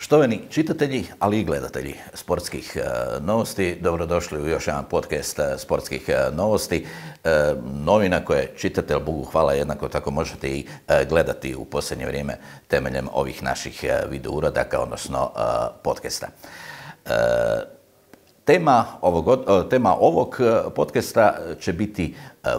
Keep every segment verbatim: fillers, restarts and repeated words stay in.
Štovani čitatelji, ali i gledatelji sportskih novosti, dobrodošli u još jedan podcast sportskih novosti. Novina koje čitate, Bogu hvala, jednako tako možete i gledati u posljednje vrijeme temeljem ovih naših video uradaka, odnosno podcasta. Tema ovog, tema ovog podcasta će biti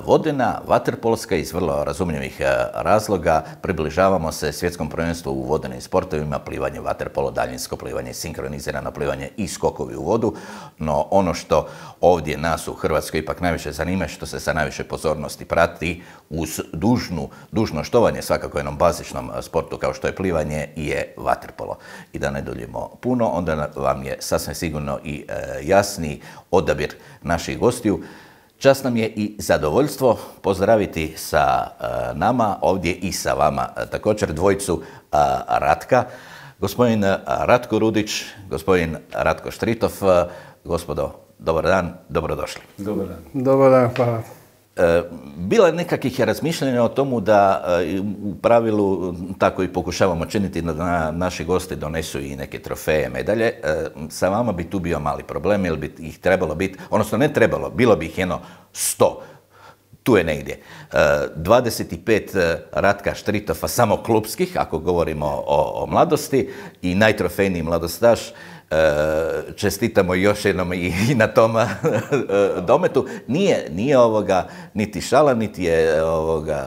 vodena, vaterpolska iz vrlo razumljivih razloga. Približavamo se svjetskom prvenstvu u vodenim sportovima, plivanje, vaterpolo, daljinsko plivanje, sinkronizirano plivanje i skokovi u vodu. No ono što ovdje nas u Hrvatskoj ipak najviše zanima, što se sa najviše pozornosti prati uz dužnu, dužno štovanje svakako jednom bazičnom sportu kao što je plivanje, je vaterpolo. I da ne duljimo puno, onda vam je sasvim sigurno i e, jasni odabir naših gostiju. Čast nam je i zadovoljstvo pozdraviti sa uh, nama ovdje i sa vama uh, također dvojicu uh, Ratka. Gospodin Ratko Rudić, gospodin Ratko Štritov. Uh, gospodo, dobar dan, dobrodošli. Dobar dan. Dobar dan, hvala. Bilo je nekakvih razmišljanja o tomu da u pravilu tako i pokušavamo činiti da naši gosti donesu i neke trofeje, medalje. Sa vama bi tu bio mali problem, jer bi ih trebalo biti, odnosno ne trebalo, bilo bi ih jedno sto. Tu je negdje. dvadeset pet Ratka Štritova samo klubskih, ako govorimo o, o mladosti, i najtrofejniji mladostaš. Čestitamo još jednom i na tom dometu. Nije, nije ovoga niti šala, niti je ovoga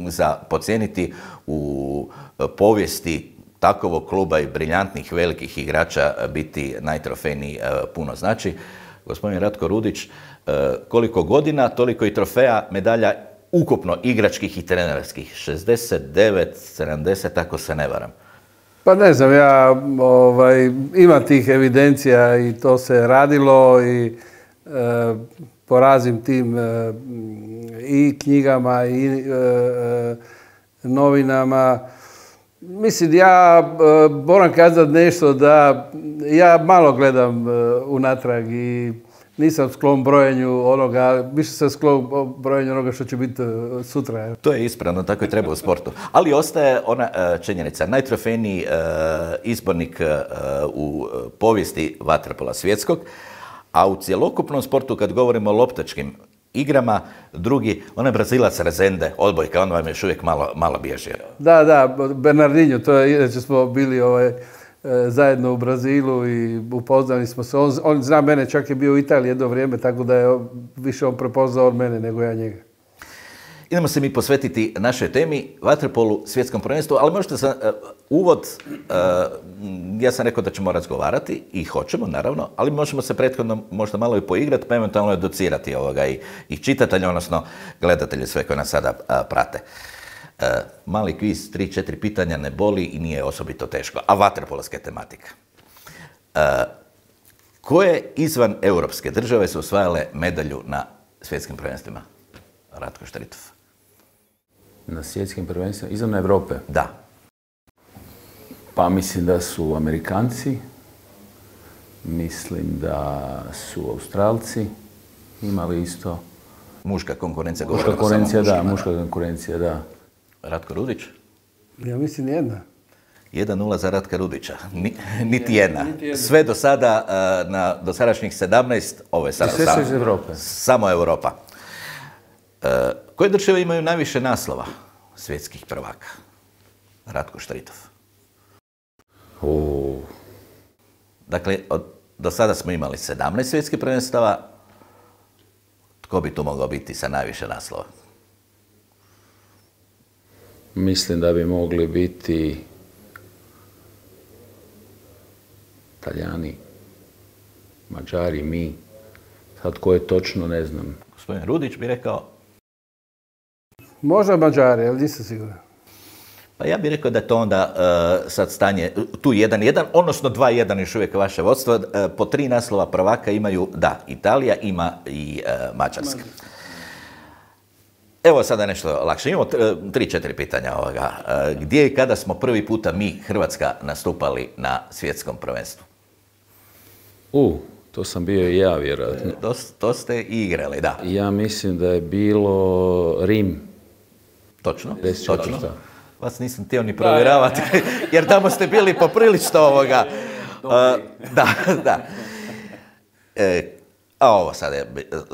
za podcijeniti u povijesti takovog kluba i briljantnih velikih igrača biti najtrofejniji puno znači. Gospodin Ratko Rudić, koliko godina, toliko i trofeja, medalja ukupno igračkih i trenerskih? šezdeset devet, sedamdeset, ako se ne varam. Pa ne znam, ja ovaj, imam tih evidencija i to se radilo i e, po raznim tim e, i knjigama i e, novinama. Mislim, ja e, moram kazati nešto da ja malo gledam e, unatrag i nisam sklon brojenju onoga, više sam sklon brojenju onoga što će biti sutra. To je ispravno, tako i treba u sportu. Ali ostaje ona uh, činjenica. Najtrofejniji uh, izbornik uh, u povijesti vaterpola svjetskog, a u cjelokupnom sportu, kad govorimo o loptačkim igrama, drugi, onaj Brazilac Rezende, odbojka, on vam još uvijek malo, malo bježi. Da, da, Bernardinho, to je, inače smo bili ovaj, zajedno u Brazilu i upoznali smo se. On, on zna mene, čak je bio u Italiji jedno vrijeme, tako da je više on prepoznao od mene nego ja njega. Idemo se mi posvetiti našoj temi, vaterpolu, svjetskom prvenstvu, ali možete za uh, uvod, uh, ja sam rekao da ćemo razgovarati i hoćemo, naravno, ali možemo se prethodno možda malo i poigrati, pa eventualno educirati ovoga i, i čitatelje, odnosno gledatelje sve koji nas sada uh, prate. Uh, mali kviz, tri, četiri pitanja, ne boli i nije osobito teško, a vaterpolska je tematika. Uh, koje izvan europske države su osvajale medalju na svjetskim prvenstvima? Ratko Štritov. Na svjetskim prvenstvima izvan Europe? Da. Pa mislim da su Amerikanci, mislim da su Australci imali isto. Muška konkurencija. Muška konkurencija, da, muška konkurencija, da. Ratko Rudić? Ja mislim jedna. jedan nula za Ratka Rudića. Ni, niti jedna. Sve do sada, na dosadašnjih sedamnaest, ovo je sada sve samo, iz Europe. Samo Europa. Koje države imaju najviše naslova svjetskih prvaka? Ratko Štritov. Oh. Dakle, od, do sada smo imali sedamnaest svjetskih prvenstava. Tko bi tu mogao biti sa najviše naslova? Mislim da bi mogli biti Talijani, Mađari, mi. Sad ko je točno, ne znam. Gospodin Rudić bi rekao? Možda Mađari, ali nisam siguran. Pa ja bih rekao da je to onda uh, sad stanje tu jedan jedan, odnosno dva jedan još uvijek vaše vodstvo. Uh, po tri naslova prvaka imaju, da, Italija ima i uh, Mađarska. Evo sada nešto lakše. Imamo tri, četiri pitanja ovoga. Uh, gdje i kada smo prvi puta mi, Hrvatska, nastupali na svjetskom prvenstvu? U, to sam bio i ja, vjerojatno. To, to ste i igrali, da. Ja mislim da je bilo Rim. Točno, deset točno. vas nisam htio ni provjeravati, jer tamo ste bili poprilično ovoga. Uh, da, da. E, a ovo sad je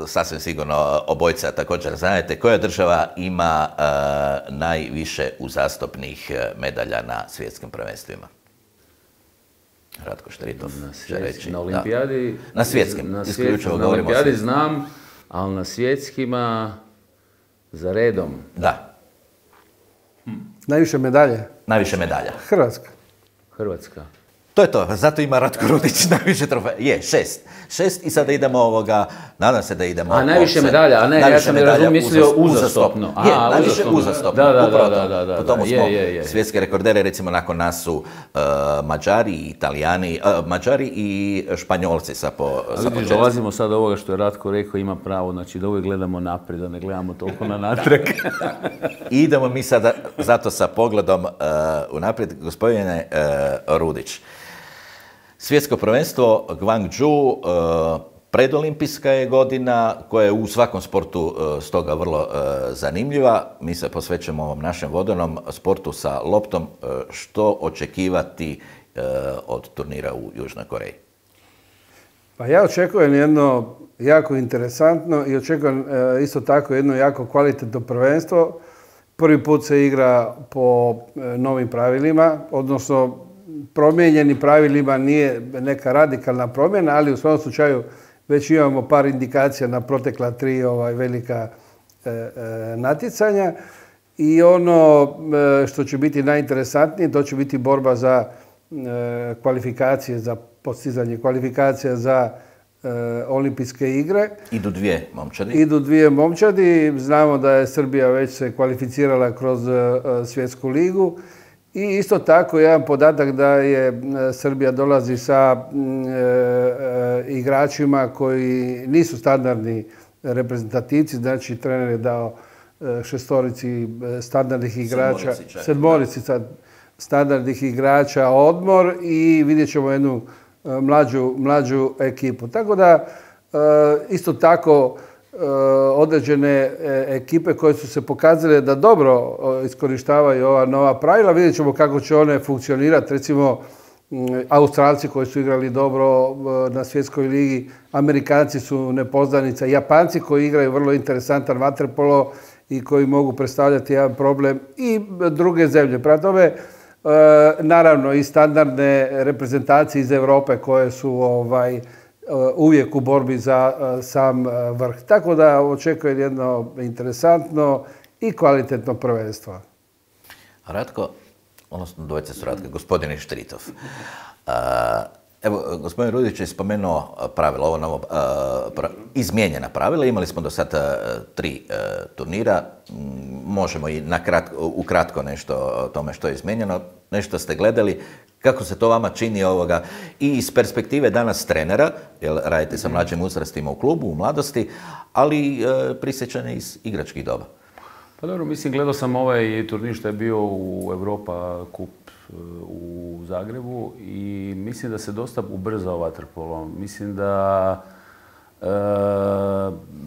sasvim sigurno obojica također znate, koja država ima uh, najviše uzastopnih medalja na svjetskim prvenstvima? Ratko Štritov će reći. Na olimpijadi... Da. Na svjetskim, na isključivo na govorimo o olimpijadi svjetskim. znam, ali na svjetskima za redom. Da. Najviše medalje? Najviše medalja. Hrvatska. Hrvatska. To je to, zato ima Ratko Rudić najviše trofeja. Je, šest. Šest i sada idemo ovoga, nadam se da idemo... A najviše osam. medalja, a ne, Najviše ja sam medalja razum, mislio uzas- uzastopno. Je, A, najviše uzastopno. uzastopno. Da, da, Upravo da, to. da, da, Po tomu da, smo je, je, je. svjetske rekordere, recimo nakon nas su uh, Mađari i Italijani, uh, Mađari i Španjolci sa po sa A po vidiš, četiri. dolazimo sad do ovoga što je Ratko rekao, ima pravo, znači da uvijek gledamo naprijed, da ne gledamo toliko na natrag. I idemo mi sada zato sa pogledom uh, unaprijed, gospodine uh, Rudić. Svjetsko prvenstvo Guangzhou, uh, predolimpijska je godina koja je u svakom sportu uh, stoga vrlo uh, zanimljiva. Mi se posvećujemo ovom našem vodenom sportu sa loptom. Uh, što očekivati uh, od turnira u Južnoj Koreji? Pa ja očekujem jedno jako interesantno i očekujem e, isto tako jedno jako kvalitetno prvenstvo. Prvi put se igra po e, novim pravilima, odnosno promijenjeni pravilima, nije neka radikalna promjena, ali u svom slučaju već imamo par indikacija na protekla tri ovaj, velika e, e, natjecanja. I ono e, što će biti najinteresantnije, to će biti borba za e, kvalifikacije, za postizanje kvalifikacija za e, olimpijske igre. Idu dvije momčadi. Idu dvije momčadi. Znamo da je Srbija već se kvalificirala kroz e, svjetsku ligu. I isto tako jedan podatak da je e, Srbija dolazi sa e, e, igračima koji nisu standardni reprezentativci, znači trener je dao e, šestorici e, standardnih igrača, Sedmorici čak. sedmorici sad standardnih igrača odmor i vidjet ćemo jednu e, mlađu, mlađu ekipu. Tako da e, isto tako e, određene e, ekipe koje su se pokazale da dobro e, iskorištavaju ova nova pravila. Vidjet ćemo kako će one funkcionirati. Recimo, m, Australci koji su igrali dobro e, na svjetskoj ligi, Amerikanci su nepoznanica, Japanci koji igraju vrlo interesantan vaterpolo i koji mogu predstavljati jedan problem i druge zemlje. Prema tome, e, naravno i standardne reprezentacije iz Europe koje su ovaj, uvijek u borbi za sam vrh. Tako da očekujem jedno interesantno i kvalitetno prvenstvo. Ratko, odnosno dvojice su Ratko, gospodin Štritov. Uh, evo, gospodin Rudić je spomenuo pravila, ovo novo, uh, pra, izmijenjena pravila. Imali smo do sada uh, tri uh, turnira. Možemo i na kratko, ukratko nešto o tome što je izmijenjeno. Nešto ste gledali. Kako se to vama čini ovoga i iz perspektive danas trenera, jer radite sa mlađim uzrastima u klubu, u mladosti, ali e, prisjećane iz igračkih doba? Pa dobro, mislim, gledao sam ovaj turnir što je bio u Europa Kup u Zagrebu i mislim da se dosta ubrzao vaterpolo. Mislim da, e,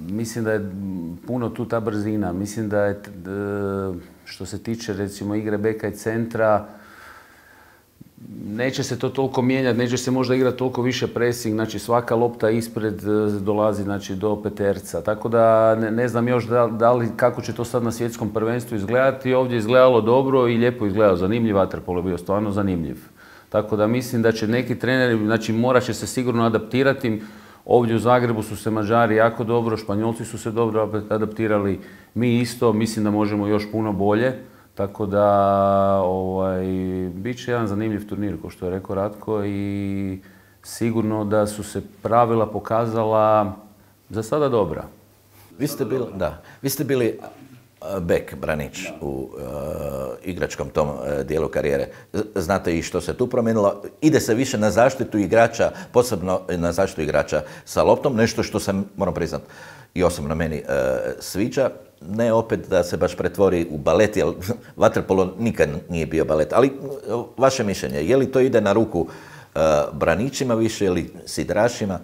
mislim da je puno tu ta brzina. Mislim da je, e, što se tiče recimo igre beka i centra, neće se to toliko mijenjati, neće se možda igrati toliko više pressing, znači svaka lopta ispred dolazi znači, do peterca. Tako da ne, ne znam još da, da li, kako će to sad na svjetskom prvenstvu izgledati. Ovdje je izgledalo dobro i lijepo izgledalo. Zanimljiv vaterpolo je bio, stvarno zanimljiv. Tako da mislim da će neki treneri, znači morat će se sigurno adaptirati. Ovdje u Zagrebu su se Mađari jako dobro, Španjolci su se dobro adaptirali, mi isto, mislim da možemo još puno bolje. Tako da, ovaj, bit će jedan zanimljiv turnir, kao što je rekao Ratko, i sigurno da su se pravila pokazala za sada dobra. Vi ste bili, da, vi ste bili bek, branič u uh, igračkom tom uh, dijelu karijere. Znate i što se tu promijenilo. Ide se više na zaštitu igrača, posebno na zaštitu igrača sa loptom, nešto što se, moram priznat, i osobno meni uh, sviđa. Ne opet da se baš pretvori u balet, jer vaterpolo nikad nije bio balet. Ali vaše mišljenje, je li to ide na ruku uh, braničima više ili sidrašima?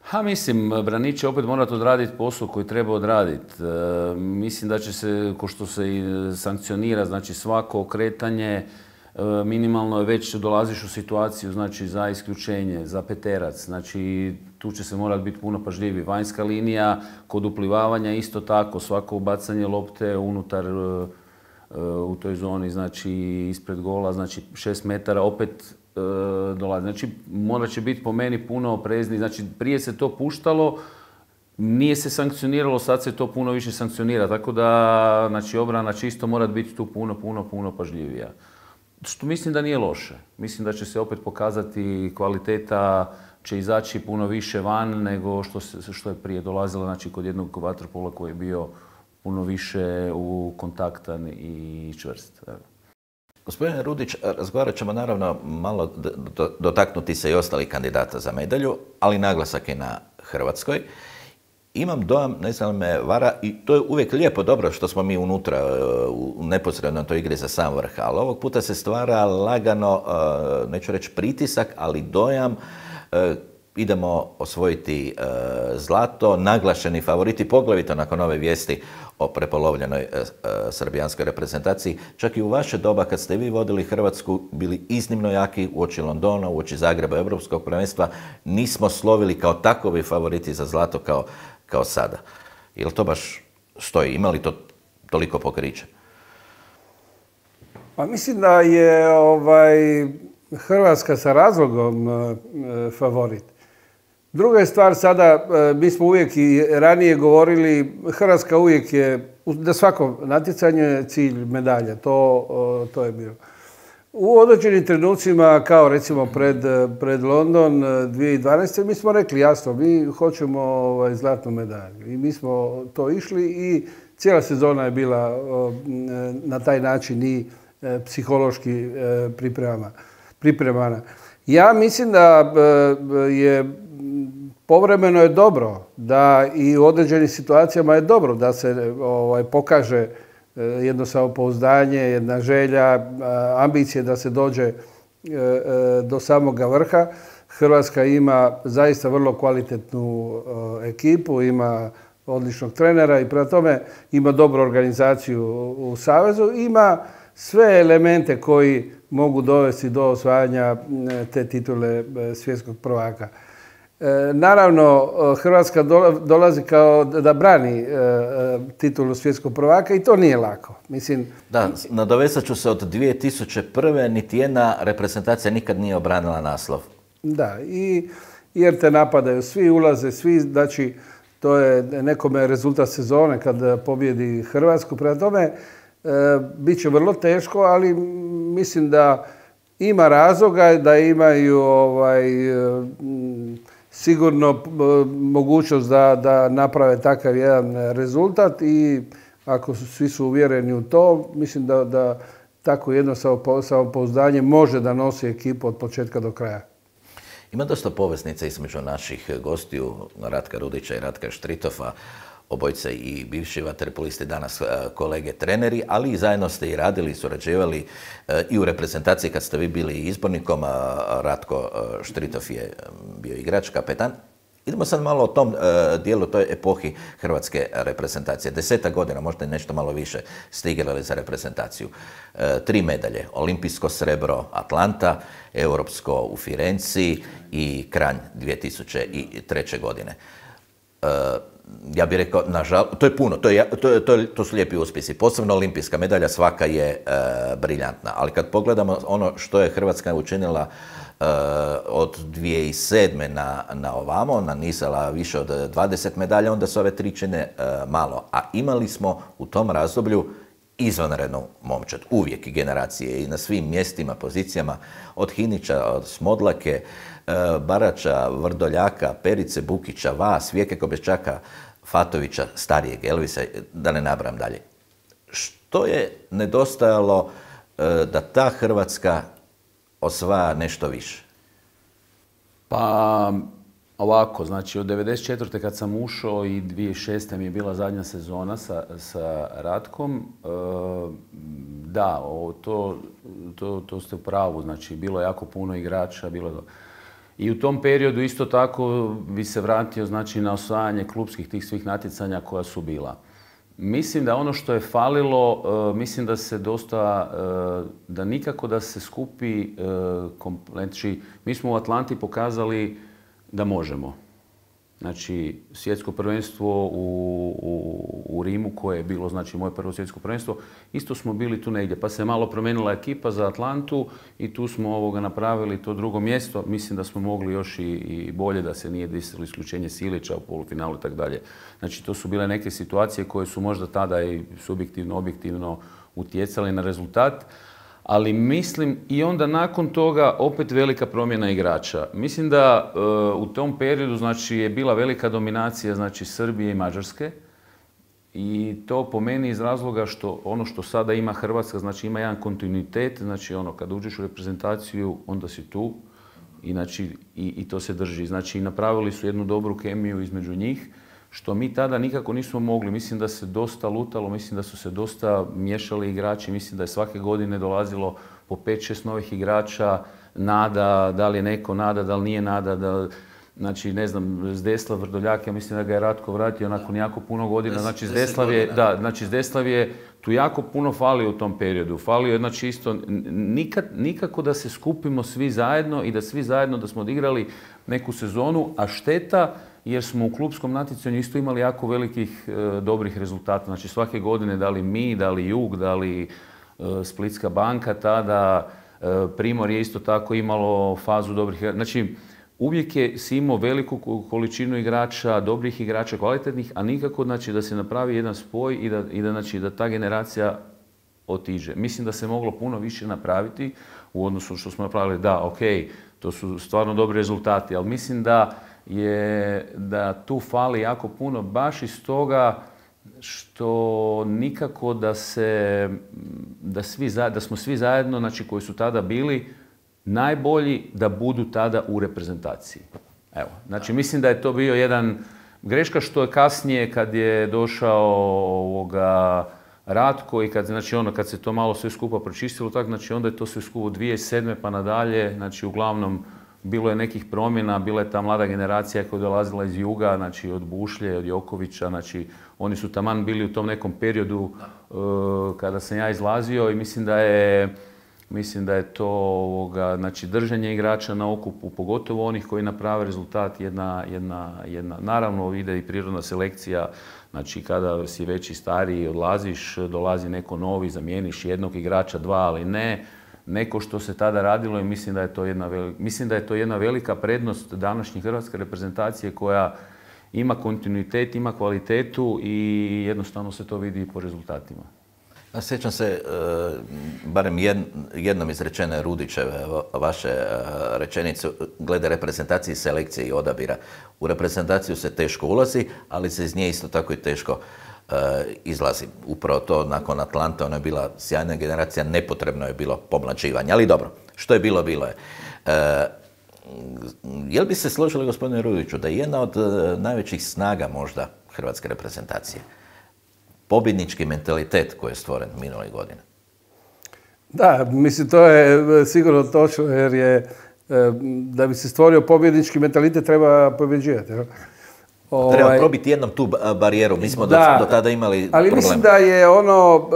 Ha, mislim, Branić će opet morati odraditi posao koji treba odraditi. E, mislim da će se, ko što se i sankcionira, znači svako okretanje, e, minimalno već dolaziš u situaciju, znači za isključenje, za peterac, znači tu će se morati biti puno pažljiviji. Vanjska linija, kod uplivavanja isto tako, svako ubacanje lopte unutar e, u toj zoni, znači ispred gola, znači šest metara, opet dolazi. Znači, morat će biti po meni puno oprezni. Znači, prije se to puštalo, nije se sankcioniralo, sad se to puno više sankcionira. Tako da, znači, obrana čisto mora biti tu puno, puno, puno pažljivija. Što mislim da nije loše. Mislim da će se opet pokazati kvaliteta, će izaći puno više van nego što, se, što je prije dolazilo, znači, kod jednog vaterpola koji je bio puno više u kontaktan i čvrst. Gospodine Rudić, razgovarat ćemo naravno malo dotaknuti se i ostalih kandidata za medalju, ali naglasak je na Hrvatskoj. Imam dojam, ne znam me vara, i to je uvijek lijepo dobro što smo mi unutra u neposrednoj toj igri za sam vrh, ali ovog puta se stvara lagano, neću reći pritisak, ali dojam idemo osvojiti e, zlato, naglašeni favoriti, poglavito nakon ove vijesti o prepolovljenoj e, e, srbijanskoj reprezentaciji. Čak i u vaše doba kad ste vi vodili Hrvatsku, bili iznimno jaki uoči Londona, uoči Zagreba, Europskog prvenstva, nismo slovili kao takovi favoriti za zlato kao, kao sada. Jel to baš stoji? Ima li to toliko pokriće? Pa mislim da je ovaj, Hrvatska sa razlogom e, favorit. Druga je stvar sada, mi smo uvijek i ranije govorili, Hrvatska uvijek je, na svakom natjecanju je cilj medalja, to, to je bilo. U određenim trenucima, kao recimo pred, pred London dvije tisuće dvanaeste. mi smo rekli jasno, mi hoćemo ovaj, zlatnu medalju. I mi smo to išli i cijela sezona je bila na taj način i psihološki pripremana. Ja mislim da je povremeno je dobro, da i u određenim situacijama je dobro da se ovaj, pokaže jedno samopouzdanje, jedna želja, ambicije da se dođe do samoga vrha. Hrvatska ima zaista vrlo kvalitetnu ekipu, ima odličnog trenera i prema tome ima dobru organizaciju u savezu, ima sve elemente koji mogu dovesti do osvajanja te titule svjetskog prvaka. Naravno, Hrvatska dolazi kao da brani titulu svjetskog prvaka i to nije lako. Mislim, da, nadovezat ću se od dvije tisuće prve. niti jedna reprezentacija nikad nije obranila naslov. Da, i jer te napadaju, svi ulaze, svi, znači to je nekome rezultat sezone kad pobjedi Hrvatsku. Prema tome, bit će vrlo teško, ali mislim da ima razloga da imaju ovaj, sigurno mogućnost da, da naprave takav jedan rezultat i ako su, svi su uvjereni u to, mislim da, da tako jedno samopouzdanje može da nosi ekipu od početka do kraja. Ima dosta poveznica između naših gostiju, Ratka Rudića i Ratka Štritofa, obojice i bivši vaterpolisti, danas kolege treneri, ali i zajedno ste i radili i surađivali i u reprezentaciji kad ste vi bili izbornikom, a Ratko Štritov je bio igrač, kapetan. Idemo sad malo o tom dijelu, toj epohi hrvatske reprezentacije. Desetak godina, možda i nešto malo više, ste igrali za reprezentaciju. Tri medalje, olimpijsko srebro Atlanta, europsko u Firenci i Kranj dvije tisuće treće. godine. Ja bih rekao, nažalost, to je puno, to, je, to, je, to, je, to su lijepi uspjesi. Posebno olimpijska medalja, svaka je e, briljantna. Ali kad pogledamo ono što je Hrvatska učinila e, od dvije tisuće sedme. na, na ovamo, nanizala više od dvadeset medalja, onda se ove tri čine e, malo. A imali smo u tom razdoblju izvanrednu momčad, uvijek i generacije i na svim mjestima, pozicijama, od Hinića, od Smodlake, Barača, Vrdoljaka, Perice, Bukića, vas, Vijeke Kobeščaka, Fatovića, starijeg Elvisa, da ne nabrajam dalje. Što je nedostajalo da ta Hrvatska osvaja nešto više? Pa ovako, znači od devedeset četvrte kad sam ušao i dvije tisuće šeste mi je bila zadnja sezona sa, sa Ratkom, e, da, to, to, to ste u pravu, znači bilo je jako puno igrača, bilo je. I u tom periodu isto tako bi se vratio znači, na osvajanje klupskih tih svih natjecanja koja su bila. Mislim da ono što je falilo, mislim da se dosta, da nikako da se skupi, znači mi smo u Atlanti pokazali da možemo. Znači, svjetsko prvenstvo u, u, u Rimu, koje je bilo znači, moje prvo svjetsko prvenstvo, isto smo bili tu negdje. Pa se malo promijenila ekipa za Atlantu i tu smo ovoga napravili to drugo mjesto. Mislim da smo mogli još i, i bolje, da se nije desilo isključenje Silića u polufinalu i tako dalje. Znači, to su bile neke situacije koje su možda tada i subjektivno, objektivno utjecale na rezultat. Ali mislim i onda nakon toga opet velika promjena igrača. Mislim da e, u tom periodu znači, je bila velika dominacija znači, Srbije i Mađarske i to po meni iz razloga što ono što sada ima Hrvatska, znači ima jedan kontinuitet, znači ono kad uđeš u reprezentaciju onda si tu i, znači, i, i to se drži. Znači napravili su jednu dobru kemiju između njih, što mi tada nikako nismo mogli. Mislim da se dosta lutalo, mislim da su se dosta miješali igrači, mislim da je svake godine dolazilo po pet šest novih igrača, nada, da li je neko nada, da li nije nada, da, znači ne znam, Zdeslav Vrdoljak, ja mislim da ga je Ratko vratio nakon jako puno godina, znači Zdeslav je, da, znači Zdeslav je tu jako puno falio u tom periodu, falio je znači isto, nikad, nikako da se skupimo svi zajedno i da svi zajedno da smo odigrali neku sezonu, a šteta jer smo u klupskom natjecanju isto imali jako velikih e, dobrih rezultata. Znači svake godine da li mi, da li Jug, da li e, Splitska banka, tada e, Primor je isto tako imalo fazu dobrih igrača. Znači uvijek je si imao veliku količinu igrača, dobrih igrača, kvalitetnih, a nikako znači, da se napravi jedan spoj i da, i da, znači, da ta generacija otiđe. Mislim da se moglo puno više napraviti u odnosu što smo napravili. Da, ok, to su stvarno dobri rezultati, ali mislim da je da tu fali jako puno baš iz toga što nikako da se da, svi, da smo svi zajedno, znači koji su tada bili najbolji da budu tada u reprezentaciji. Evo, znači mislim da je to bio jedan greška što je kasnije kad je došao ovoga Ratko i kad, znači ono, kad se to malo sve skupa pročistilo, tak, znači onda je to sve skupo dvije tisuće sedme pa nadalje, znači uglavnom bilo je nekih promjena, bila je ta mlada generacija koja je dolazila iz Juga, znači od Bušlje, od Jokovića, znači oni su taman bili u tom nekom periodu uh, kada sam ja izlazio i mislim da je, mislim da je to ovoga, znači držanje igrača na okupu, pogotovo onih koji naprave rezultat, jedna, jedna, jedna, naravno ide i prirodna selekcija, znači kada si veći stariji odlaziš, dolazi neko novi, zamijeniš jednog igrača, dva, ali ne neko što se tada radilo i mislim da je to jedna velika, mislim da je to jedna velika prednost današnje hrvatske reprezentacije koja ima kontinuitet, ima kvalitetu i jednostavno se to vidi i po rezultatima. Ja sjećam se, barem jednom izrečene Rudićeve vaše rečenice glede reprezentacije, selekcije i odabira. U reprezentaciju se teško ulazi, ali se iz nje isto tako i teško izlazi. Upravo to nakon Atlante, ona je bila sjajna generacija, nepotrebno je bilo pomlađivanje. Ali dobro, što je bilo, bilo je. Je li bi se složili, gospodine Rudiću, da je jedna od najvećih snaga možda hrvatske reprezentacije pobjednički mentalitet koji je stvoren minule godine? Da, mislim, to je sigurno točno, jer je, da bi se stvorio pobjednički mentalitet, treba pobjeđivati. Ovaj, treba probiti jednom tu barijeru. Mi smo da, do, do tada imali ali problem. Mislim da je ono,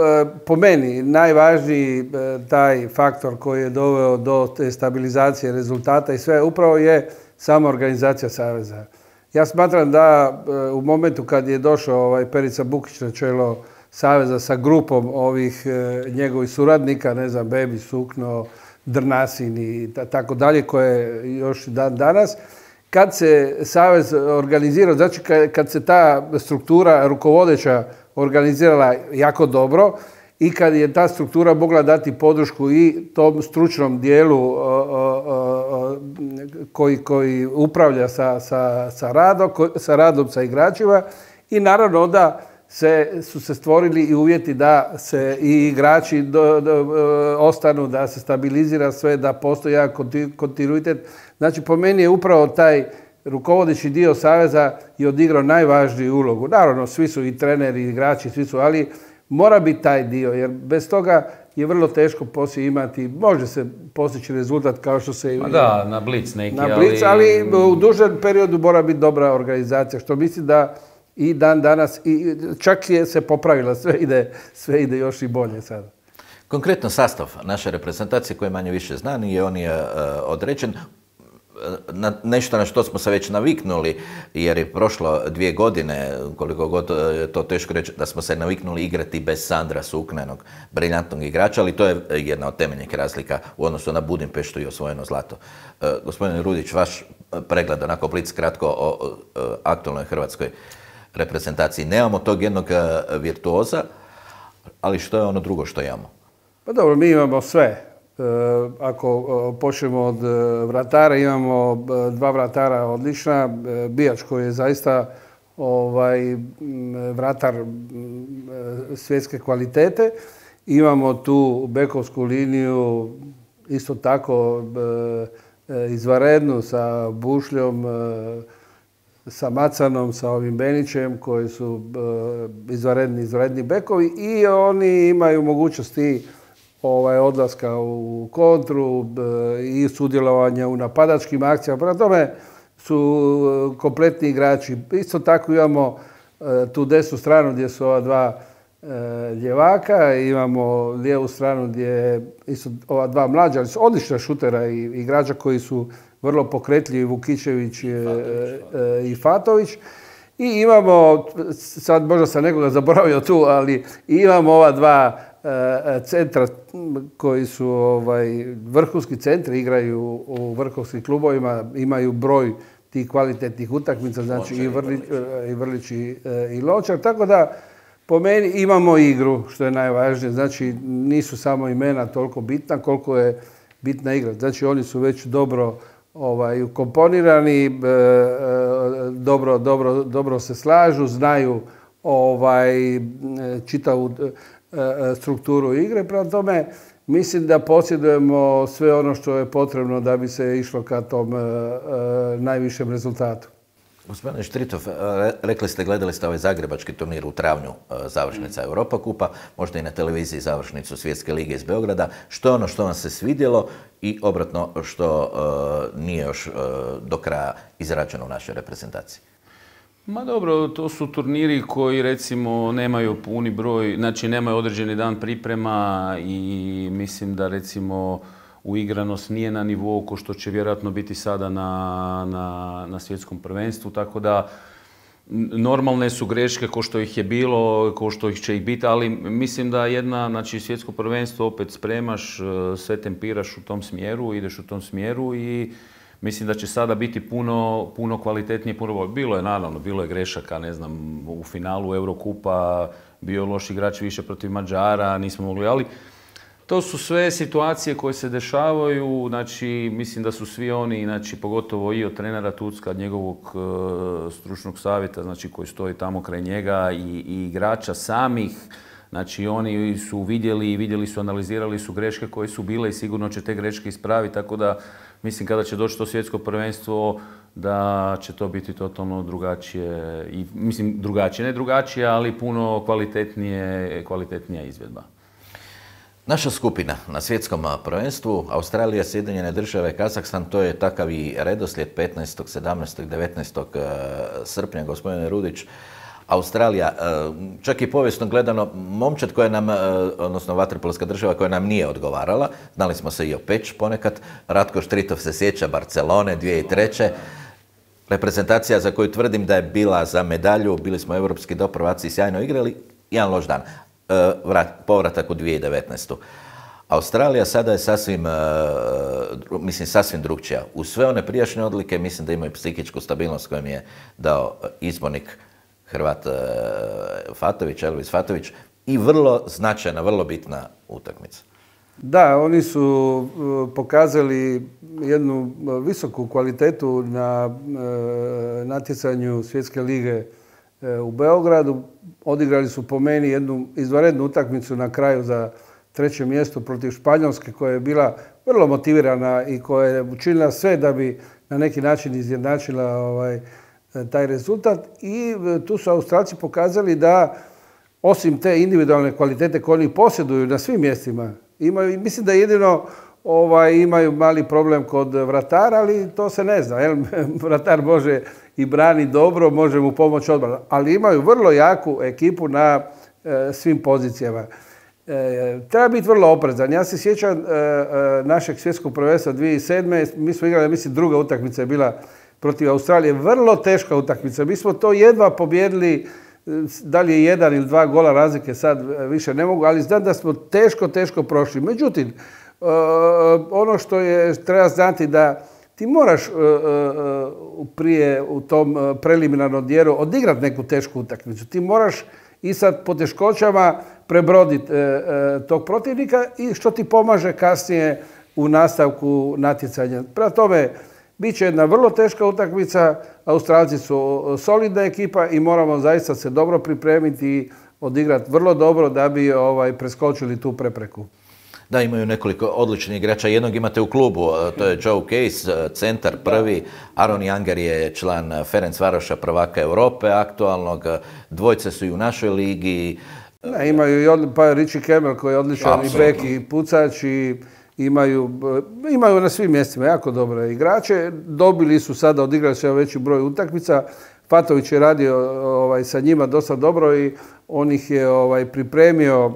po meni, najvažniji taj faktor koji je doveo do te stabilizacije rezultata i sve, upravo je sama organizacija Saveza. Ja smatram da u momentu kad je došao ovaj Perica Bukić na čelo Saveza sa grupom ovih njegovih suradnika, ne znam, Bebi, Sukno, Drnasin i tako dalje, koje još dan danas, kad se Savez organizirao, znači kad se ta struktura rukovodeća organizirala jako dobro i kad je ta struktura mogla dati podršku i tom stručnom dijelu koji, koji upravlja sa, sa, sa, radom, sa radom sa igračima i naravno onda se, su se stvorili i uvjeti da se i igrači do, do, ostanu, da se stabilizira sve, da postoji jedan kontinuitet. Znači, po meni je upravo taj rukovodeći dio Saveza i odigrao najvažniju ulogu. Naravno, svi su i treneri, i igrači, svi su, ali mora biti taj dio, jer bez toga je vrlo teško poslije imati, može se postići rezultat kao što se... Ma da, na blic neki, na blic, ali... ali u dužem periodu mora biti dobra organizacija, što mislim da i dan danas, i čak je se popravila, sve ide, sve ide još i bolje sada. Konkretno sastav naše reprezentacije koji je manje više znan i on je uh, određen. Na nešto na što smo se već naviknuli, jer je prošlo dvije godine, koliko god je to teško reći, da smo se naviknuli igrati bez Sandra Suknenog, briljantnog igrača, ali to je jedna od temeljnih razlika u odnosu na Budimpeštu i osvojeno zlato. E, gospodine Rudić, vaš pregled, onako blic kratko o, o, o aktualnoj hrvatskoj reprezentaciji. Nemamo tog jednog virtuoza, ali što je ono drugo što imamo? Pa dobro, mi imamo sve. Ako počnemo od vratara, imamo dva vratara odlična. Bijač koji je zaista ovaj, vratar svjetske kvalitete. Imamo tu bekovsku liniju isto tako izvanrednu sa Bušljom, sa Macanom, sa ovim Benićem koji su izvanredni, izvanredni bekovi i oni imaju mogućnosti ovaj, odlaska u kontru i sudjelovanja u napadačkim akcijama. Prema tome su kompletni igrači. Isto tako imamo tu desnu stranu gdje su ova dva ljevaka, imamo lijevu stranu gdje isto ova dva mlađa, ali su odlična šutera i igrača koji su vrlo pokretljivi, Vukičević i Fatović. I imamo, sad možda sam nekoga zaboravio tu, ali imamo ova dva centra koji su ovaj, vrhunski centri, igraju u vrhovskim klubovima, imaju broj tih kvalitetnih utakmica, znači i Vrlić i, Vrlić i, i Lončar. Tako da po meni imamo igru, što je najvažnije. Znači nisu samo imena toliko bitna koliko je bitna igra. Znači oni su već dobro ovaj, ukomponirani, dobro, dobro, dobro se slažu, znaju ovaj, čitavu strukturu igre. Prema tome, mislim da posjedujemo sve ono što je potrebno da bi se išlo ka tom najvišem rezultatu. Gospodine Štritov, rekli ste, gledali ste ovaj zagrebački turnir u travnju, završnica Europa kupa, možda i na televiziji završnicu Svjetske lige iz Beograda. Što je ono što vam se svidjelo i obratno što nije još do kraja izrađeno u našoj reprezentaciji? Ma dobro, to su turniri koji recimo nemaju puni broj, znači nemaju određeni dan priprema i mislim da recimo uigranost nije na nivou ko što će vjerojatno biti sada na, na, na svjetskom prvenstvu, tako da normalne su greške ko što ih je bilo, ko što ih će ih biti, ali mislim da jedna, znači svjetsko prvenstvo opet spremaš, sve tempiraš u tom smjeru, ideš u tom smjeru i mislim da će sada biti puno, puno kvalitetnije, puno bolje. Bilo je naravno, bilo je grešaka, ne znam, u finalu Eurokupa bio loš igrač više protiv Mađara, nismo mogli, ali to su sve situacije koje se dešavaju, znači mislim da su svi oni, znači pogotovo i od trenera Tucka, njegovog uh, stručnog savjeta, znači koji stoji tamo kraj njega i, i igrača samih, znači oni su vidjeli, vidjeli su, analizirali su greške koje su bile i sigurno će te greške ispraviti, tako da mislim kada će doći to svjetsko prvenstvo da će to biti totalno drugačije, i, mislim drugačije, ne drugačije, ali puno kvalitetnije, kvalitetnija izvedba. Naša skupina na svjetskom prvenstvu, Australija, Sjedinjene Države, Kazahstan, to je takav i redoslijed petnaestog, sedamnaestog, devetnaestog srpnja, gospodine Rudić. Australija, čak i povijesno gledano, momčad koja nam, odnosno vaterpolska država koja nam nije odgovarala, znali smo se i o Peć ponekad, Ratko Štritov se sjeća Barcelone dvije tisuće treće. Reprezentacija za koju tvrdim da je bila za medalju, bili smo europski doprvaci i sjajno igrali, jedan loš dan. Povratak u dvije tisuće devetnaestu. Australija sada je sasvim, mislim, sasvim drugčija. Uz sve one prijašnje odlike, mislim da imaju psihičku stabilnost koju mi je dao izbornik Hrvat Fatović, Elvis Fatović, i vrlo značajna, vrlo bitna utakmica. Da, oni su pokazali jednu visoku kvalitetu na natjecanju Svjetske lige u Beogradu. Odigrali su po meni jednu izvanrednu utakmicu na kraju za treće mjesto protiv Španjolske koja je bila vrlo motivirana i koja je učinila sve da bi na neki način izjednačila ovaj, taj rezultat. I tu su Australci pokazali da osim te individualne kvalitete koje oni posjeduju na svim mjestima, imaju, mislim da jedino ovaj, imaju mali problem kod vratara, ali to se ne zna. Jel? Vratar može i brani dobro, može mu pomoći odbrana, ali imaju vrlo jaku ekipu na e, svim pozicijama. E, treba biti vrlo oprezan. Ja se sjećam e, e, našeg svjetskog prvenstva dvije tisuće sedme. Mi smo igrali, mislim, druga utakmica je bila protiv Australije. Vrlo teška utakmica. Mi smo to jedva pobjedili. Da li je jedan ili dva gola razlike, sad više ne mogu, ali znam da smo teško, teško prošli. Međutim, e, ono što je, treba znati da ti moraš e, e, prije u tom preliminarnom dijelu odigrati neku tešku utakmicu. Ti moraš i sad po teškoćama prebroditi e, e, tog protivnika i što ti pomaže kasnije u nastavku natjecanja. Prema tome, bit će jedna vrlo teška utakmica, Australci su solidna ekipa i moramo zaista se dobro pripremiti i odigrati vrlo dobro da bi ovaj, preskočili tu prepreku. Da, imaju nekoliko odličnih igrača. Jednog imate u klubu, to je Joe Case, centar prvi. Aaron Younger je član Ferencvaroša, prvaka Europe aktualnog. Dvojce su i u našoj ligi. Ne, imaju i od, pa Richie Campbell koji je odličan i bek i pucač i imaju, imaju na svim mjestima jako dobre igrače. Dobili su sada, odigrali su veći broj utakmica. Fatović je radio ovaj, sa njima dosta dobro i on ih je ovaj, pripremio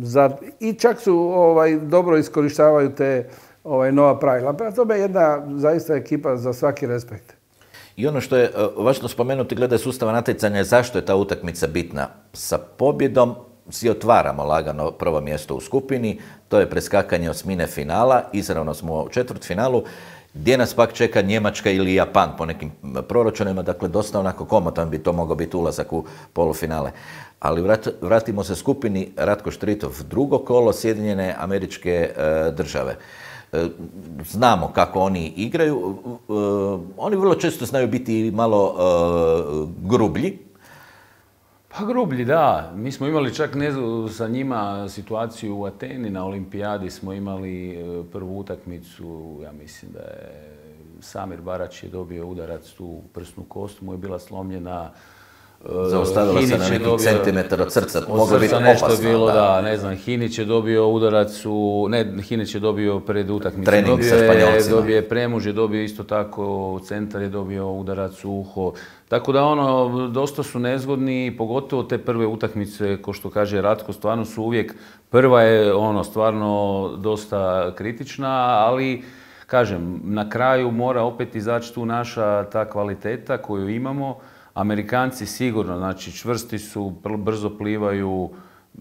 za, i čak su ovaj, dobro iskorištavaju te ovaj, nova pravila. Prema tome jedna zaista ekipa za svaki respekt. I ono što je važno spomenuti glede sustava natjecanja je zašto je ta utakmica bitna. Sa pobjedom si otvaramo lagano prvo mjesto u skupini, to je preskakanje osmine finala, izravno smo u četvrtfinalu, gdje nas pak čeka Njemačka ili Japan po nekim proračunima, dakle dosta onako komotan bi to mogao biti ulazak u polufinale. Ali vrat, vratimo se skupini Ratko Štritov, drugo kolo, Sjedinjene Američke e, države. E, znamo kako oni igraju, e, oni vrlo često znaju biti malo e, grublji. Pa grublji, da. Mi smo imali čak ne, sa njima situaciju u Ateni, na olimpijadi smo imali prvu utakmicu, ja mislim da je Samir Barač je dobio udarac tu u prsnu kost, mu je bila slomljena. Zaustavila se na nekih centimetar od srca, moglo biti nešto opasno. Bilo, da. da, ne znam, Hinić je dobio udarac u, ne, Hinić je dobio pred utakmicom. Trening sa Španjolcima. Dobije Premuž je dobio isto tako, centar je dobio udarac u uho. Tako da ono, dosta su nezgodni, pogotovo te prve utakmice, ko što kaže Ratko, stvarno su uvijek, prva je ono, stvarno dosta kritična, ali kažem, na kraju mora opet izaći tu naša ta kvaliteta koju imamo. Amerikanci sigurno, znači čvrsti su, brzo plivaju, e,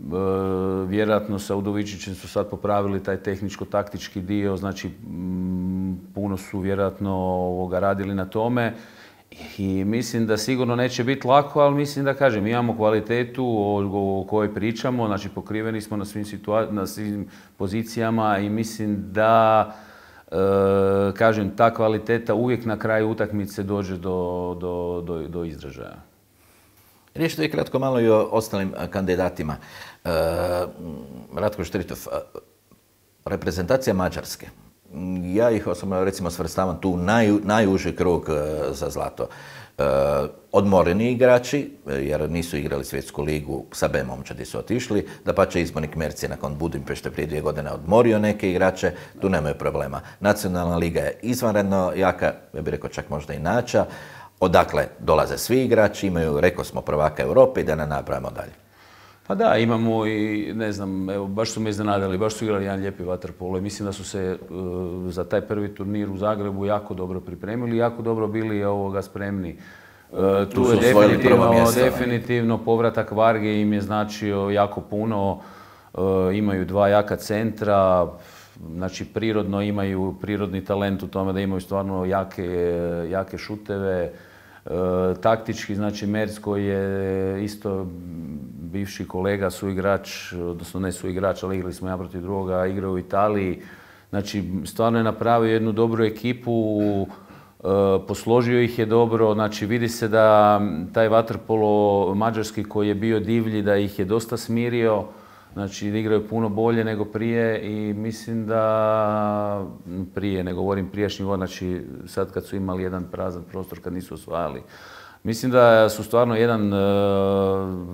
vjerojatno sa Udovičićem su sad popravili taj tehničko-taktički dio, znači m, puno su vjerojatno ovoga, radili na tome i mislim da sigurno neće biti lako, ali mislim da kažem, imamo kvalitetu o, o kojoj pričamo, znači pokriveni smo na svim, situa- na svim pozicijama i mislim da E, kažem, ta kvaliteta uvijek na kraju utakmice dođe do, do, do, do izražaja. Riješite vi kratko malo i o ostalim kandidatima. E, Ratko Štritov, reprezentacija Mađarske. Ja ih osobno recimo svrstavam tu naj, najuži krug za zlato. E, odmoreni igrači, jer nisu igrali svjetsku ligu, sa B momčadi su otišli, dapače Izbornik Merci nakon Budimpešte prije dvije godine odmorio neke igrače, tu nemaju problema. Nacionalna liga je izvanredno jaka, ja bih rekao čak možda i nača, odakle dolaze svi igrači, imaju, rekao smo, prvaka Europe i da ne nabrajamo dalje. Pa da, imamo i, ne znam, evo, baš su me iznenadili, baš su igrali jedan lijepi vaterpolo i mislim da su se uh, za taj prvi turnir u Zagrebu jako dobro pripremili, jako dobro bili ovoga spremni. Uh, tu, tu je definitivno, mjesto, definitivno povratak Varge im je značio jako puno, uh, imaju dva jaka centra, znači prirodno imaju prirodni talent u tome da imaju stvarno jake, jake šuteve. E, taktički, znači Merc koji je isto bivši kolega, suigrač, odnosno ne suigrač, ali igrali smo ja protiv drugoga, igrao u Italiji. Znači, stvarno je napravio jednu dobru ekipu, e, posložio ih je dobro, znači vidi se da taj vaterpolo mađarski koji je bio divlji, da ih je dosta smirio. Znači, igraju puno bolje nego prije i mislim da prije, ne govorim prijašnji god, znači sad kad su imali jedan prazan prostor, kad nisu osvajali. Mislim da su stvarno jedan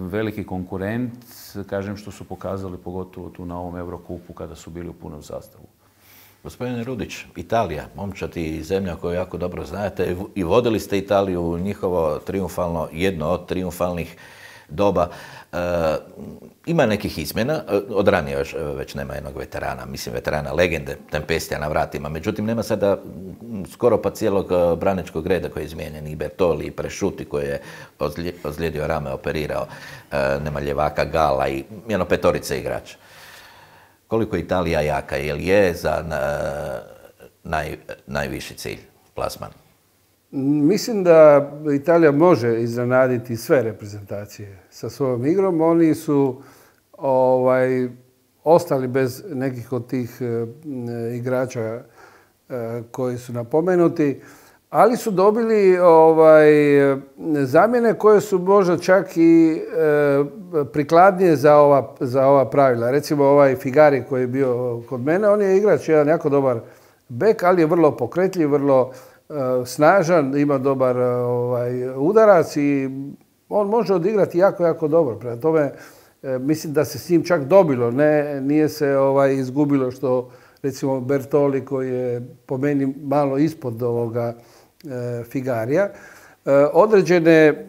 veliki konkurent, kažem što su pokazali pogotovo tu na ovom Eurokupu kada su bili u punom sastavu. Gospodine Rudić, Italija, momčad i zemlja koju jako dobro znate i vodili ste Italiju u njihovo triumfalno, jedno od triumfalnih doba. E, ima nekih izmjena, od ranije još, već nema jednog veterana, mislim veterana legende, Tempestija na vratima, međutim nema sada skoro pa cijelog branečkog reda koji je izmijenjen, i Bertoli, i Presciutti koji je ozlijedio rame, operirao, e, nema ljevaka, Gala i jedno petorice igrača. Koliko je Italija jaka, jel je za naj, najviši cilj, plasman? Mislim da Italija može iznenaditi sve reprezentacije sa svojom igrom. Oni su ovaj, ostali bez nekih od tih e, igrača e, koji su napomenuti, ali su dobili ovaj, zamjene koje su možda čak i e, prikladnije za ova, za ova pravila. Recimo ovaj Figari koji je bio kod mene, on je igrač, jedan jako dobar bek, ali je vrlo pokretljiv, vrlo e, snažan, ima dobar ovaj, udarac i on može odigrati jako, jako dobro. Prema tome, e, mislim da se s njim čak dobilo, ne, nije se ovaj, izgubilo što recimo Bertoli koji je po meni malo ispod ovoga Figarija. Određene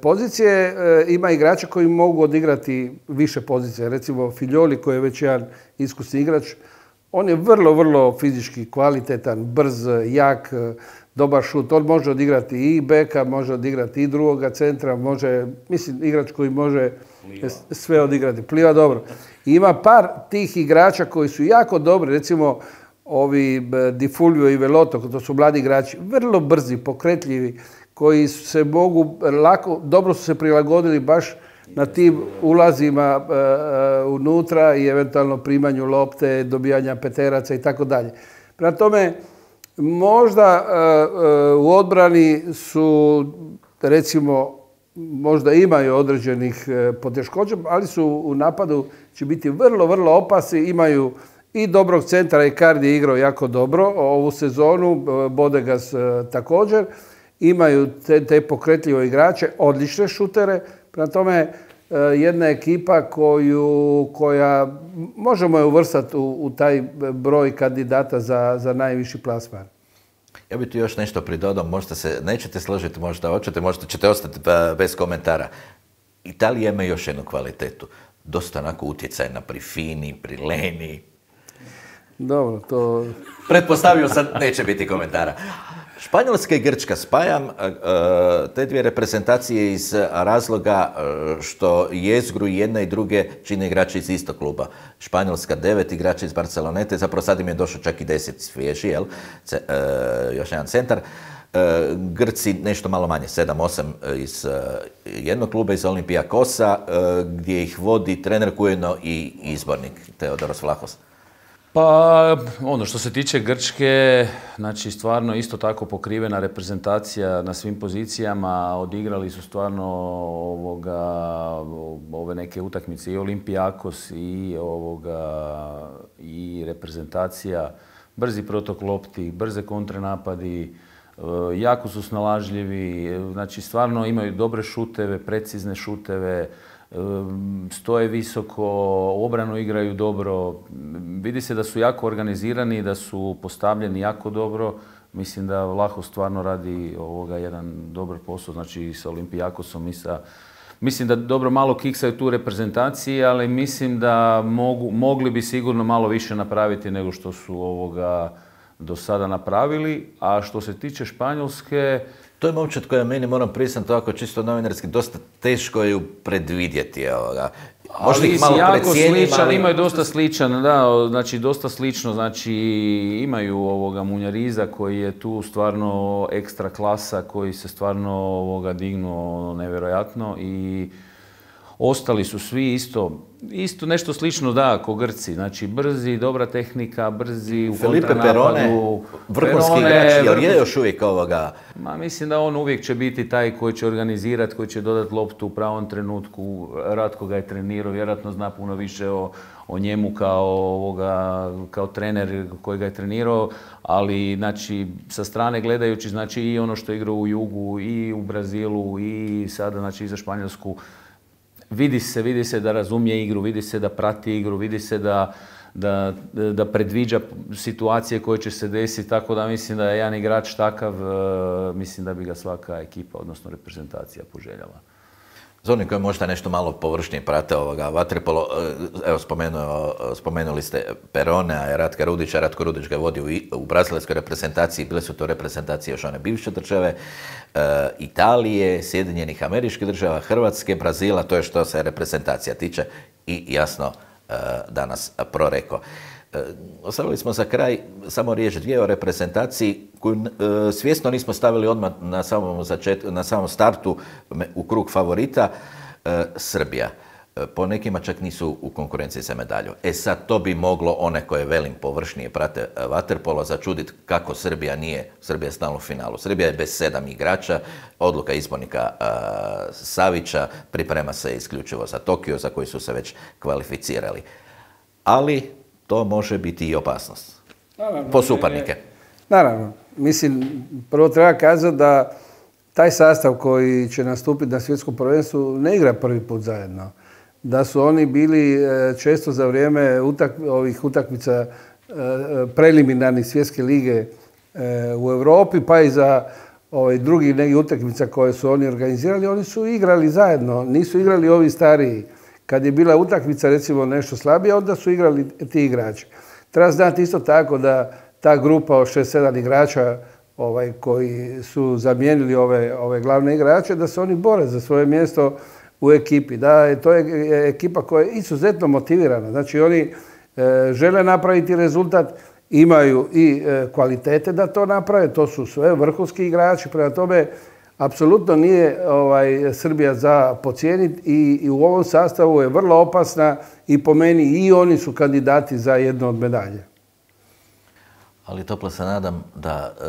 pozicije ima igrača koji mogu odigrati više pozicije. Recimo Figlioli koji je već jedan iskusni igrač. On je vrlo, vrlo fizički kvalitetan, brz, jak, dobar šut. On može odigrati i beka, može odigrati i drugoga centra, može, mislim, igrač koji može sve odigrati. Pliva dobro. I ima par tih igrača koji su jako dobri, recimo ovi Di Fulvio i Veloto, to su mladi igrači, vrlo brzi, pokretljivi, koji se mogu lako, dobro su se prilagodili baš na tim ulazima e, unutra i eventualno primanju lopte, dobijanja peteraca i tako dalje. Prema tome, možda e, e, u odbrani su, recimo, možda imaju određenih e, poteškoća, ali su u napadu će biti vrlo, vrlo opasni, imaju i dobrog centra, i Icardi je igrao jako dobro ovu sezonu, Bodegas također. Imaju te, te pokretljive igrače, odlične šutere. Prema tome, jedna ekipa koju, koja možemo je uvrstati u, u taj broj kandidata za, za najviši plasman. Ja bih tu još nešto pridodao, možda se nećete složiti, možda hoćete, možda ćete ostati bez komentara. Italija ima još jednu kvalitetu. Dosta onako utjecajna pri Fini, pri Leni. Dobro, to... Pretpostavio sam, neće biti komentara. Španjolska i Grčka spajam te dvije reprezentacije iz razloga što jezgru jedna i druge čine igrači iz istog kluba. Španjolska devet igrača iz Barcelonete, zapravo sad im je došao čak i deset svježi, jel? C, e, još jedan centar. E, Grci nešto malo manje, sedam osam iz jednog kluba, iz Olimpijakosa, e, gdje ih vodi trener ujedno i izbornik Teodoros Vlahos. Pa, ono što se tiče Grčke, znači stvarno isto tako pokrivena reprezentacija na svim pozicijama, odigrali su stvarno ovoga, ove neke utakmice i Olimpijakos i ovoga i reprezentacija, brzi protok lopti, brze kontranapadi, jako su snalažljivi, znači stvarno imaju dobre šuteve, precizne šuteve, stoje visoko, obranu igraju dobro. Vidi se da su jako organizirani, da su postavljeni jako dobro. Mislim da Vlahos stvarno radi ovoga jedan dobar posao, znači i sa Olimpijakosom i sa... Mislim da dobro malo kiksaju tu reprezentaciji, ali mislim da mogu, mogli bi sigurno malo više napraviti nego što su ovoga do sada napravili. A što se tiče Španjolske... To je momčad koja meni, moram priznati, ovako čisto novinarski, dosta teško je predvidjeti. Možda ali ih malo jako precijenim, sličan, ali... imaju dosta sličan, da, znači dosta slično, znači imaju ovoga Munjariza koji je tu stvarno ekstra klasa, koji se stvarno ovoga dignuo nevjerojatno i ostali su svi isto, isto nešto slično da, ko Grci. Znači brzi, dobra tehnika, brzi u Felipe kontranapadu. Perone, vrhunski igrač, jer je još uvijek ovoga... Ma, mislim da on uvijek će biti taj koji će organizirati, koji će dodati loptu u pravom trenutku. Ratko ga je trenirao, vjerojatno zna puno više o, o njemu kao, ovoga, kao trener koji ga je trenirao, ali znači, sa strane gledajući znači, i ono što je igrao u Jugu, i u Brazilu, i sada znači, i za Španjolsku, vidi se, vidi se da razumije igru, vidi se da prati igru, vidi se da, da, da predviđa situacije koje će se desiti, tako da mislim da je jedan igrač takav, mislim da bi ga svaka ekipa, odnosno reprezentacija poželjala. Za oni koji možda nešto malo površnije prate ovoga vaterpolo, evo spomenuo, spomenuli ste Peronea i Ratka Rudića. Ratko Rudić ga vodi u, u brazilskoj reprezentaciji, bile su to reprezentacije još one bivše države, e, Italije, Sjedinjenih Američkih Država, Hrvatske, Brazila, to je što se reprezentacija tiče i jasno e, danas proreko. E, ostavili smo za kraj samo riječ dvije o reprezentaciji koju e, svjesno nismo stavili odmah na samom, začet, na samom startu u krug favorita, e, Srbija. E, po nekima čak nisu u konkurenciji za medalju. E sad to bi moglo one koje velim površnije prate vaterpolo začuditi kako Srbija nije, Srbija je stalno u finalu. Srbija je bez sedam igrača, odluka izbornika e, Savića, priprema se isključivo za Tokio za koji su se već kvalificirali. Ali to može biti i opasnost. Naravno, po suparnike. Naravno. Mislim, prvo treba kazati da taj sastav koji će nastupiti na svjetskom prvenstvu ne igra prvi put zajedno. Da su oni bili često za vrijeme utak, ovih utakmica preliminarnih svjetske lige u Europi, pa i za ovaj, drugih nekih utakmica koje su oni organizirali, oni su igrali zajedno, nisu igrali ovi stariji. Kad je bila utakmica recimo nešto slabije, onda su igrali ti igrači. Treba znati isto tako da ta grupa od šest sedam igrača ovaj, koji su zamijenili ove, ove glavne igrače, da se oni bore za svoje mjesto u ekipi. Da, to je ekipa koja je izuzetno motivirana. Znači oni e, žele napraviti rezultat, imaju i e, kvalitete da to naprave, to su sve vrhunski igrači, prema tome apsolutno nije ovaj, Srbija za podcijeniti i, i u ovom sastavu je vrlo opasna i po meni i oni su kandidati za jednu od medalje. Ali toplo se nadam da e,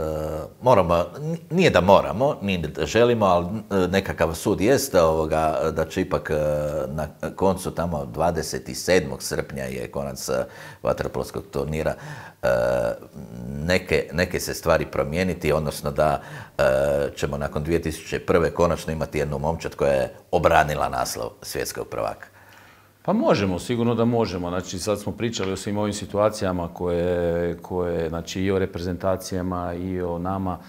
moramo, nije da moramo, nije da želimo, ali nekakav sud jeste ovoga, da će ipak e, na koncu tamo dvadeset sedmog srpnja je konac vaterpolskog turnira, e, neke, neke se stvari promijeniti, odnosno da e, ćemo nakon dvije tisuće prve konačno imati jednu momčad koja je obranila naslov svjetskog prvaka. Pa možemo, sigurno da možemo. Znači, sad smo pričali o svim ovim situacijama koje, koje, znači i o reprezentacijama i o nama.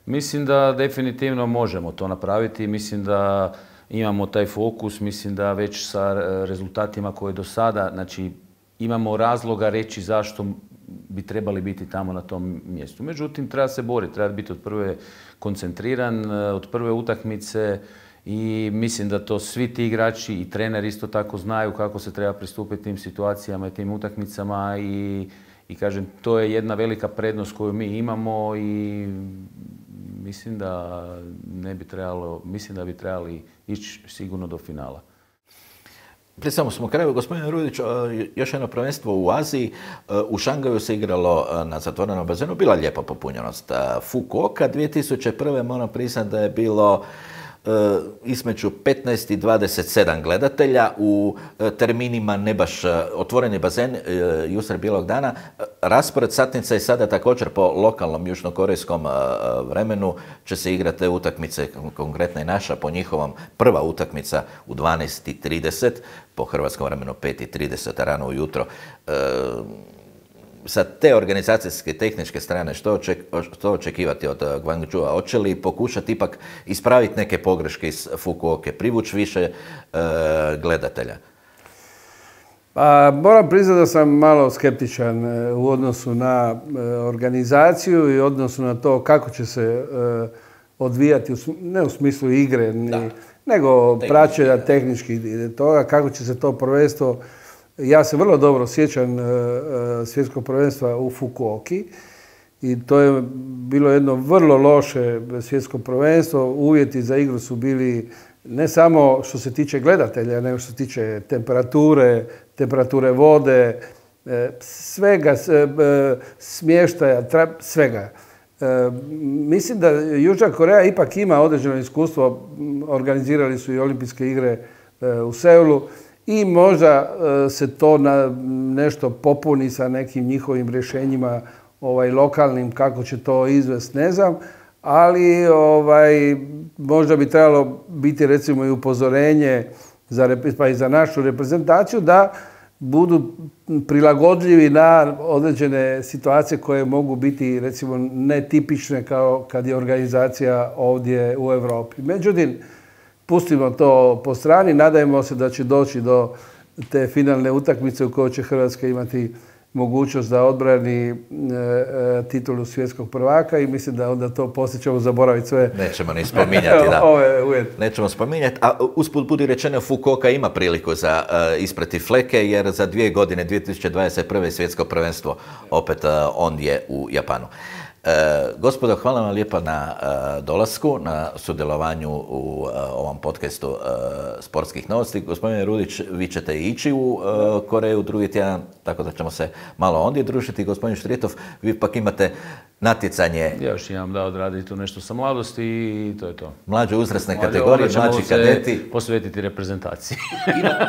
Mislim da definitivno možemo to napraviti. Mislim da imamo taj fokus, mislim da već sa rezultatima koje do sada, znači imamo razloga reći zašto bi trebali biti tamo na tom mjestu. Međutim, treba se boriti, treba biti od prve koncentriran, od prve utakmice. I mislim da to svi ti igrači i trener isto tako znaju kako se treba pristupiti tim situacijama i tim utakmicama i, i kažem, to je jedna velika prednost koju mi imamo i mislim da ne bi trebalo, mislim da bi trebali ići sigurno do finala. Prije samo smo kraju, gospodine Rudić, još jedno prvenstvo u Aziji. U Šangaju se igralo na zatvorenom bazenu, bila lijepa popunjenost. Fukuoka dvije tisuće prve moram priznati da je bilo između petnaest i dvadeset sedam gledatelja u terminima ne baš otvoreni bazen jusred bijelog dana. Raspored satnica je sada također po lokalnom južnokorejskom vremenu će se igrati te utakmice, konkretno i naša po njihovom prva utakmica u dvanaest i trideset, po hrvatskom vremenu pet i trideset rano ujutro. Sa te organizacijske tehničke strane što, oček, što očekivati od Gwangju-a? Hoće li pokušati ipak ispraviti neke pogreške iz Fukuoke, privući više e, gledatelja? Pa, moram priznati da sam malo skeptičan u odnosu na organizaciju i odnosu na to kako će se e, odvijati, ne u smislu igre, ni, nego praćenja tehničkih toga, kako će se to prvenstvo. Ja se vrlo dobro sjećam svjetskog prvenstva u Fukuoki i to je bilo jedno vrlo loše svjetsko prvenstvo. Uvjeti za igru su bili ne samo što se tiče gledatelja, nego što se tiče temperature, temperature vode, svega, smještaja, svega. Mislim da Južna Koreja ipak ima određeno iskustvo, organizirali su i olimpijske igre u Seulu i možda se to na nešto popuni sa nekim njihovim rješenjima ovaj, lokalnim, kako će to izvesti, ne znam, ali ovaj, možda bi trebalo biti recimo i upozorenje za, pa i za našu reprezentaciju da budu prilagodljivi na određene situacije koje mogu biti recimo netipične kao kad je organizacija ovdje u Europi. Međutim, pustimo to po strani, nadajmo se da će doći do te finalne utakmice u kojoj će Hrvatska imati mogućnost da odbrani e, e, titulu svjetskog prvaka i mislim da onda to poslije ćemo zaboraviti sve. Nećemo ni spominjati, da. Ove uvjeti. Nećemo spominjati, a usput budi rečeno Fukuoka ima priliku za uh, isprati fleke jer za dvije godine, dvije tisuće dvadeset prve svjetsko prvenstvo opet uh, ondje u Japanu. E, gospodo, hvala vam lijepa na e, dolasku, na sudjelovanju u e, ovom podcastu e, sportskih novosti. Gospodine Rudić, vi ćete ići u e, Koreju drugi tjedan, tako da ćemo se malo ondje družiti. Gospodin Štritov, vi pak imate natjecanje. Ja još imam da odradim tu nešto sa mladosti i to je to. Mlađe uzrasne kategorije, mlađi kadeti. Posvetiti reprezentaciji.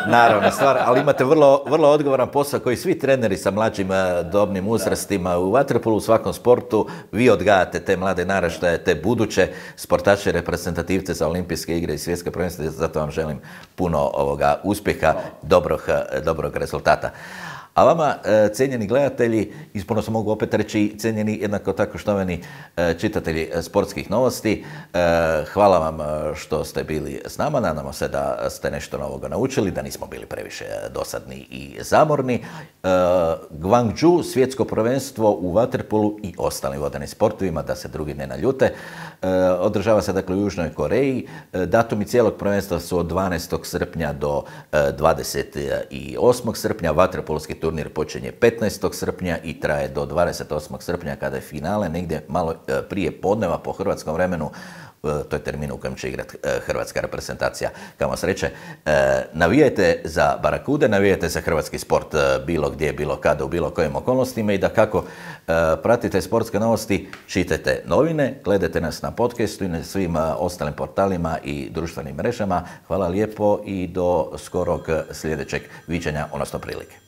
Naravno, stvar, ali imate vrlo, vrlo odgovoran posao koji svi treneri sa mlađim dobnim uzrastima u vaterpolu, u svakom sportu. Vi odgajate te mlade naraštaje, te buduće sportače, reprezentativce za olimpijske igre i svjetske prvenstva. Zato vam želim puno ovoga uspjeha, dobrog, dobrog rezultata. A vama, cijenjeni gledatelji, ispuno se mogu opet reći, cijenjeni jednako tako štovani čitatelji sportskih novosti, hvala vam što ste bili s nama, nadamo se da ste nešto novoga naučili, da nismo bili previše dosadni i zamorni. Gwangju, svjetsko prvenstvo u vaterpolu i ostalim vodenim sportovima, da se drugi ne naljute, održava se dakle u Južnoj Koreji. Datumi cijelog prvenstva su od dvanaestog srpnja do dvadeset osmog srpnja, vaterpolski turnir počinje petnaestog srpnja i traje do dvadeset osmog srpnja kada je finale, negdje malo prije podneva po hrvatskom vremenu, to je termin u kojem će igrati hrvatska reprezentacija. Kamo sreće, navijajte za Barakude, navijajte za hrvatski sport bilo gdje, bilo kada, u bilo kojim okolnostima i da kako pratite sportske novosti, čitajte novine, gledajte nas na podcastu i na svim ostalim portalima i društvenim mrežama. Hvala lijepo i do skorog sljedećeg viđenja, odnosno prilike.